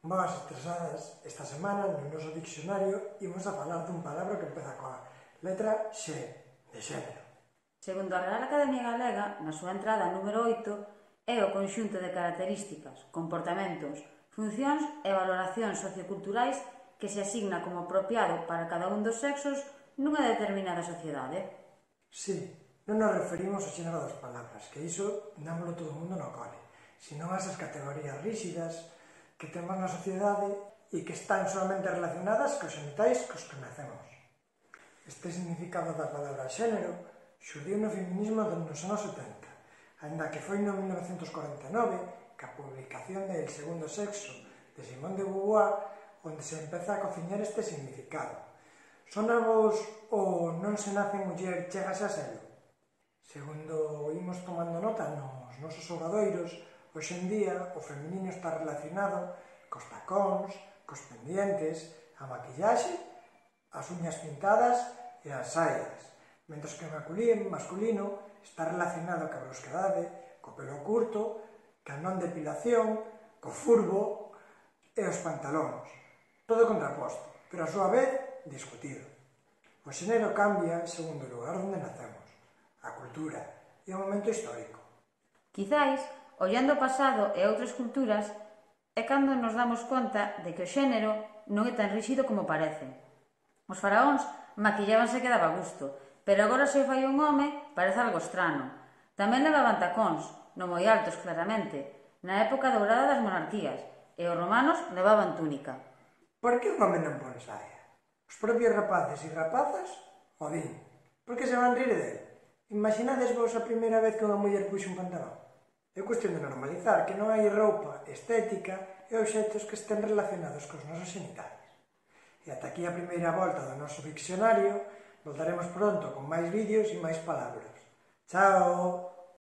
Boas estresadas, esta semana no noso diccionario imos a falar dun palabra que empeza coa letra X, de xénero. Segundo a Real Academia Galega, na súa entrada número 8, é o conxunto de características, comportamentos, funcións e valoracións socioculturais que se asigna como apropiado para cada un dos sexos nunha determinada sociedade. Sí, non nos referimos ao xénero das palabras, que iso dámoslo todo o mundo no cole, senón a esas categorías rígidas que temos na sociedade e que están solamente relacionadas cos xenitais cos que nacemos. Este significado da palabra xénero xurdiu no feminismo nos anos 70, aínda que foi no 1949 ca publicación de El segundo sexo de Simone de Beauvoir onde se empeza a cociñar este significado. Sonavos o non se nace muller chégase a selo? Segundo imos tomando nota nos nosos obradoiros, hoxe en día o feminino está relacionado cos tacóns, cos pendientes, a maquillaxe, as uñas pintadas e as saias, mentres que o masculino está relacionado coa brusquedade, co pelo curto, ca non depilación, co furbo e os pantalóns. Todo contraposto, pero a súa vez discutido. O xénero cambia segundo o lugar onde nacemos, a cultura e o momento histórico. Quizais, ollando o pasado e outras culturas, é cando nos damos conta de que o xénero non é tan rígido como parece. Os faraóns maquillábanse que daba gusto, pero agora se o fai un home parece algo estrano. Tamén levaban tacóns, non moi altos claramente, na época dourada das monarquías, e os romanos levaban túnica. Por que un home non pon saia? Os propios rapaces e rapazas o din. Por que se van rir dele? Imaginades vos a primeira vez que unha muller puxe un pantalón? É cuestión de normalizar que non hai roupa estética e obxectos que estén relacionados cos nosos xenitais. E ata aquí a primeira volta do noso diccionario. Voltaremos pronto con máis vídeos e máis palabras. Chao!